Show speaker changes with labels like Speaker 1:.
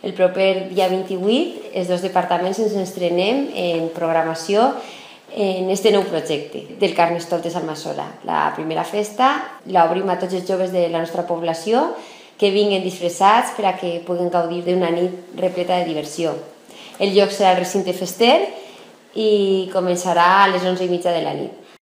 Speaker 1: El proper dia 28, els dos departaments ens estrenem en programació en aquest nou projecte del Carnestoltes Almassora. La primera festa l'obrim a tots els joves de la nostra població que vinguen disfressats per a que puguin gaudir d'una nit repleta de diversió. El lloc serà el recinte fester i començarà a les 11:30 de la nit.